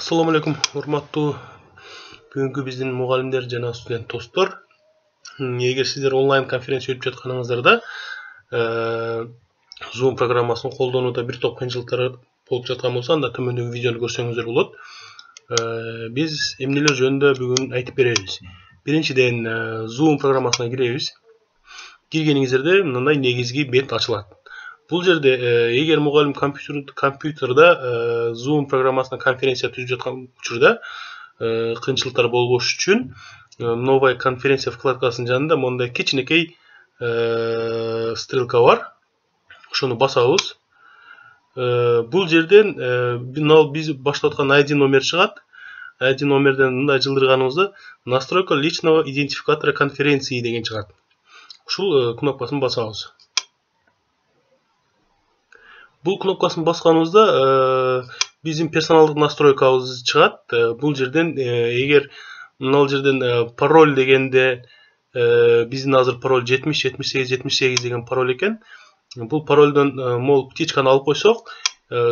Assalamu alaikum, урматтуу бүгүнкү биздин мугалимдер жана студент достор. Эгер сиздер онлайн конференция өтүп жатканыңыздарда Zoom программасын колдонууда бир топ кыйынчылыктар болуп жаткан болсо, анда төмөндөгү видеону көрсөңүздөр болот. Биз эмнелер жөнүндө бүгүн айтып беребиз. Биринчиден, Zoom программасына киребиз. Киргениңиздерде мындай негизги бет ачылат. Бул жерде эгер мугалим компьютерда Zoom программасына конференция түзүп жаткан учурда кыйынчылыктар болбош үчүн новая конференция вкладкасынын жанында мондай кичинекей стрелка бар. Ошону басабыз. Бул жерден биз баштап аткан ID номер чыгат. ID номерден мындай жылдырганыбызда настройка личного идентификатора конференции деген чыгат. Ушул кнопкасын басабыз. Бул кнопкасын басканыбызда биздин персоналдык настройкабыз чыгат. Бул жерден эгер мына жерден пароль дегенде биздин азыр пароль 707878 деген пароль экен. Бул паролдон мол птичканы алып койсок,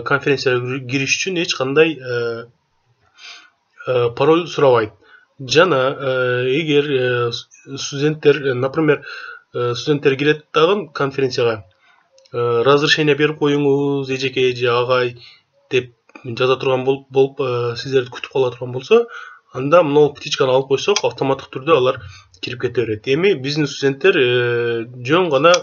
конференцияга кириш үчүн эч кандай пароль сурабайт. Жана эгер студенттер, например, студенттер кирет дагы конференцияга, разрешение берип коюңуз, эжеке же агай деп жаза турган болуп сиздерди күтүп кала турган болсо, анда мына птичканы алып койсок, автоматтык түрдө алар кирип кете берет. Эми биздин студенттер жөн гана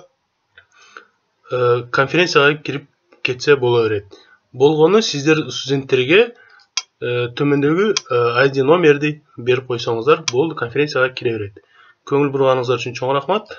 конференцияга кирип кетсе боло берет. Болгону сиздер студенттерге төмөндөгү ID номерди берип койсоңуздар, болду, конференцияга кире берет. Көңүл бурганыңыздар үчүн чоң рахмат.